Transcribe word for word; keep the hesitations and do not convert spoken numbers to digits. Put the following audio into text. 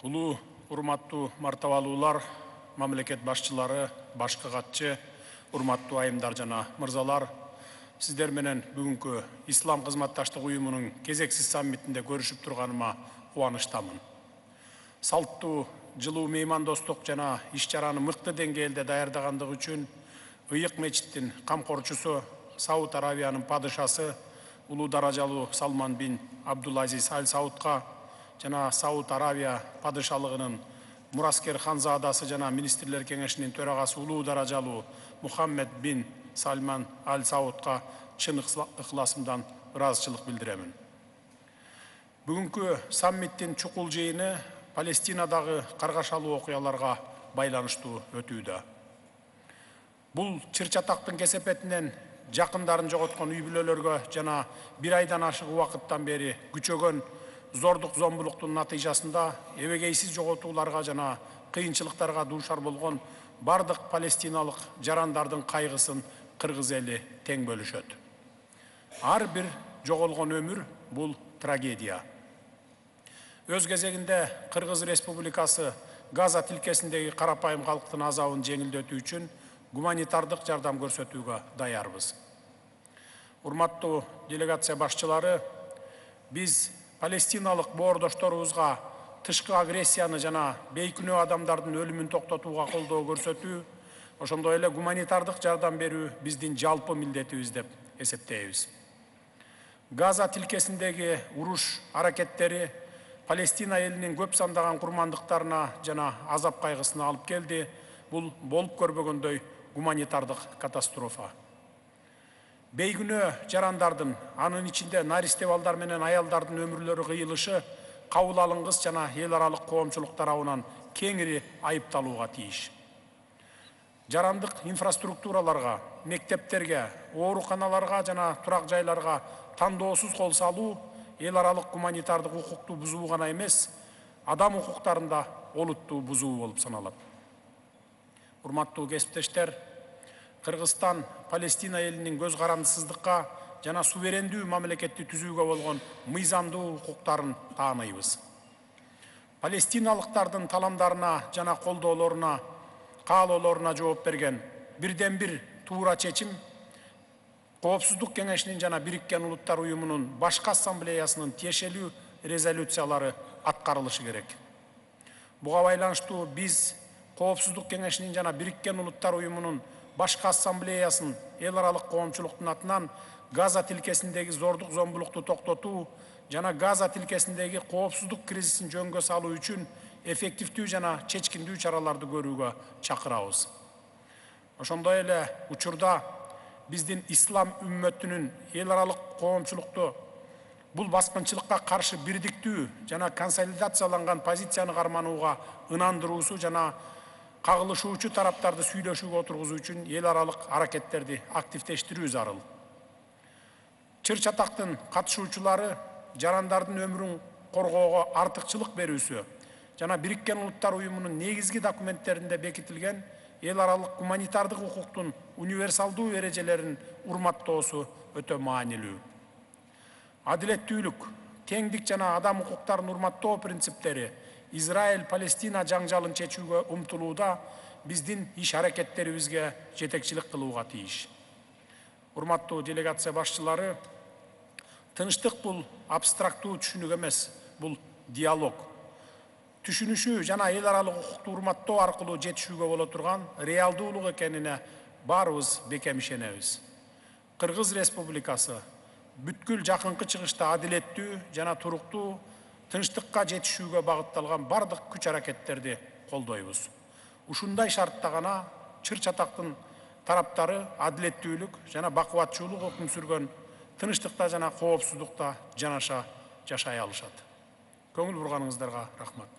Улуу урматтуу мартабалуулар, мамлекет башчылары, башкы катчы, урматтуу айымдар жана мырзалар, сиздер менен бүгүнкү Ислам кызматташтык уюмунун кезексиз саммитинде көрүшүп турганыма кубанычтамын. Салттуу, жылуу меймандостук жана иш-чараны мыкты деңгээлде даярдагандыгы үчүн Ыйык мечиттин камкорчусу, Сауд Аравиянын падышасы, улуу даражалуу Салман бин Абдул-Азиз Аль Саудка жана Сауд Аравия падышалыгынын мураскер ханзадасы жана министрлер кеңешинин төрагасы улуу даражалуу Мухаммед бин Сальман Аль Саудка чын ыхласымдан ыраазычылык билдиремин. Бүгүнкү саммиттин чукул жыйыны Палестинадагы каргашалуу окуяларга байланыштуу өтүүдө. Бул чыр-чатактын кесепетинен жакындарын жоготкон үй бүлөлөргө жана бир айдан ашык убакыттан бери күчөгөн зордук зомбулуктун натыйжасында эбегейсиз жоготууларга жана кыйынчылыктарга дуушар болгон бардык палестиналык жарандардын кайгысын кыргыз эли тең бөлүшөт. Ар бир жоголгон өмүр бул трагедия. Өз кезегинде Кыргыз Республикасы Газа тилкесиндеги карапайым калктын азабын жеңилдетүү үчүн гуманитардык жардам көрсөтүүгө даярбыз. Урматтуу делегация башчылары, биз палестиналык боордошторубузга тышкы агрессияны жана бейкүнөө адамдардын өлүмүн токтотууга колдоо көрсөтүү, ошондой эле гуманитардык жардам берүү биздин жалпы милдетибиз деп эсептейбиз. Газа тилкесиндеги уруш аракеттери Палестина элинин көп сандаган курмандыктарына жана азап кайгысына алып келди. Бул болуп көрбөгөндөй гуманитардык катастрофа. Бейкүнөө жарандардын, анын ичинде наристе балдар менен аялдардын өмүрлөрү кыйылышы кабыл алынгыс жана эл аралык коомчулук тарабынан кеңири айыпталууга тийиш. Жарандык инфраструктураларга, мектептерге, ооруканаларга жана турак жайларга тандоосуз кол салуу эл аралык гуманитардык укукту бузуу гана эмес, адам укуктарын да олуттуу бузуу болуп саналат. Урматтуу кесиптештер, Кыргызстан Палестина элинин көз карандысыздыкка жана суверендүү мамлекетти түзүүгө болгон мыйзамдуу укуктарын тааныйбыз. Палестиналыктардын таламдарына жана колдоолоруна, каалоолоруна жооп берген бирден бир туура чечим Коопсуздук кеңешинин жана Бириккен Улуттар уюмунун башкы ассамблеясынын тиешелүү резолюциялары аткарылышы керек. Буга байланыштуу биз Коопсуздук кеңешинин жана Бириккен Улуттар уюмунун башкы ассамблеясын эл аралык коомчулуктун атынан Газа тилкесиндеги зордук зомбулукту токтотуу жана Газа тилкесиндеги коопсуздук кризисин жөнгө салуу үчүн эффективдүү жана чечкиндүү чараларды көрүүгө чакырабыз. Ошондой эле учурда биздин ислам үммөтүнүн эл аралык коомчулукту бул баскынчылыкка каршы бирдиктүү жана консолидацияланган позицияны карманууга ынандыруусу жана кагылышуучу тараптарды сүйлөшүүгө отургузуу үчүн эл аралык аракеттерди активдештирүү зарыл. Чыр-чатактын катышуучулары жарандардын өмүрүн коргоого артыкчылык берүүсү жана Бириккен Улуттар уюмунун негизги документтеринде бекитилген эл аралык гуманитардык укуктун универсалдуу эрежелерин урматтоосу өтө маанилүү. Адилеттүүлүк, теңдик жана адам укуктарын урматтоо принциптери Израиль-Палестина жаңжалын чечүүгө умтулууда биздин иш аракеттерибизге жетекчилик кылууга тийиш. Урматтуу делегация башчылары, тынчтык бул абстрактуу түшүнүк эмес, бул диалог. Түшүнүшүү жана эл аралык укукту урматтоо аркылуу жетишүүгө боло турган реалдуулук экенине баарыбыз бекем ишенебиз. Кыргыз Республикасы бүткүл жакынкы чыгышта адилеттүү жана туруктуу тынчтыкка жетишүүгө багытталган бардык күч аракеттерди колдойбуз. Ушундай шартта гана чыр-чатактын тараптары адилеттүүлүк жана бакубатчуулук өкүм сүргөн тынчтыкта жана коопсуздукта жанаша жашай алышат. Көңүл бурганыңыздарга рахмат.